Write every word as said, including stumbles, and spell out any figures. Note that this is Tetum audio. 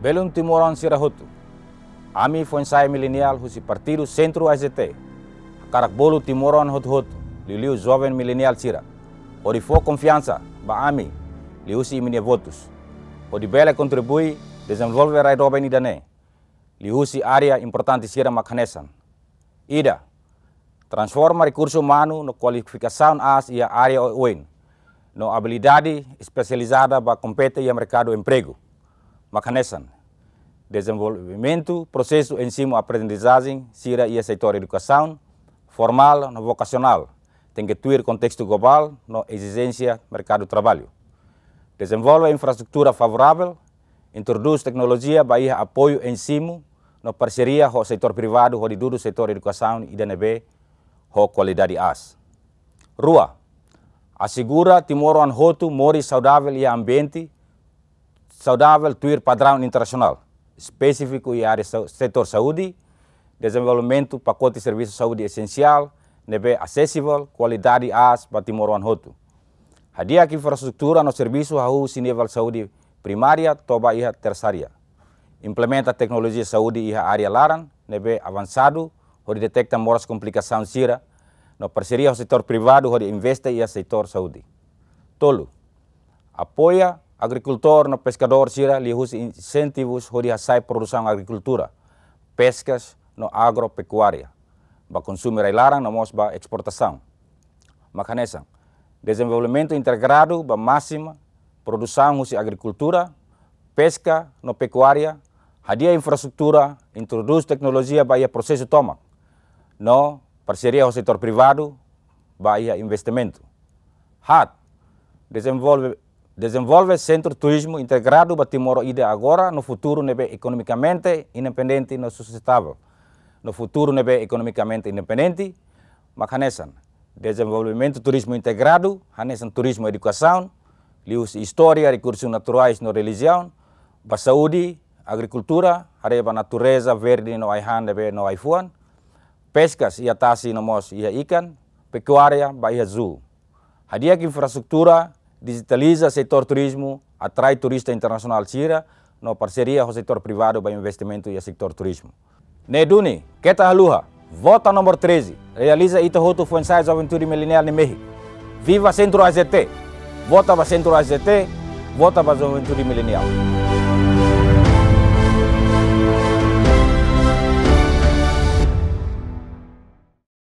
Belun timoroan sira hotu. Ami foin-sa'e mileniál husi Partidu Sentru A S D T hakarak bolu timoroan hotu-hotu, liuliu joven mileniál sira, hodi fó konfiansa ba ami liuhusi imi-nia votus, hodi bele kontribui dezenvolve rai doben ida-ne'e liuhusi área importante sira mak hanesan: ida, transforma rekursu umanu no kualifikasaun aas iha área oioin, no abilidade espesializada ba kompete iha merkadu empregu, mak hanesan: dezenvolvimentu prosesu ensinu-aprendizajen sira iha setór edukasaun formál no vokasionál, tenke tuir kontestu globál no ezijénsia merkadu traballu. Dezenvolve infraestrutura favoravel, introdús teknolojia ba iha apoiu ensinu no parseria ho setór privadu hodi dudu setór edukasaun ida ne'ebé ho kualidade aas. Rua, asegura timoroan hotu moris saudavel iha ambiente saudavel tuir padraun internasionál, espesífiku iha área sa-, setór saúde, dezenvolvimentu pakote servisu saúde esensiál ne'ebé asesivel, kualidade aas ba timoroan hotu. Hadi'a infraestrutura no servisu hahú husi nivel saúde primária to'o ba iha tersária. Implementa teknolojia saúde iha área laran ne'ebé avansadu hodi deteta moras komplikasaun sira, no parseria ho setór privadu hodi investe iha setór saúde. Tolu, apoia agrikultór no peskadór sira liuhusi insentivus hodi hasa'e produsaun agrikultura, peskas no agropekuária, ba konsumu rai-laran no mós ba esportasaun. Mak hanesan: dezenvolvimentu integradu ba másimu produsaun husi agrikultura, peska no pekuária, hadi'a infraestrutura, introdús teknolojia ba iha prosesu tomak, no parseria ho setór privadu ba iha investimentu. Haat, dezenvolve, dezenvolve sentru turizmu integradu ba Timor ida agora no futuru ne'ebé ekonomikamente independente no sustentável. No futuru ne'ebé ekonomikamente independente, mak hanesan: dezenvolvimentu turizmu integradu, hanesan turizmu edukasaun, liuhusi istória, rekursus naturais no relijiaun, ba saúde, agrikultura, haree ba natureza verde no ai-han ne'ebé no ai-fuan, peskas iha tasi no mós iha ikan, pekuária ba iha zoo. Hadi'a infraestrutura, dijitaliza setór turizmu, atrai turista internasionál sira, no parseria ho setór privadu ba investimentu iha setór turizmu. Ne'e duni, keta haluha, vota númeru treze, realiza ita hotu foin-sa'e juventude mileniál nia mehi. Viva Sentru A S D T, vota ba Sentru A S D T, vota ba juventude mileniál.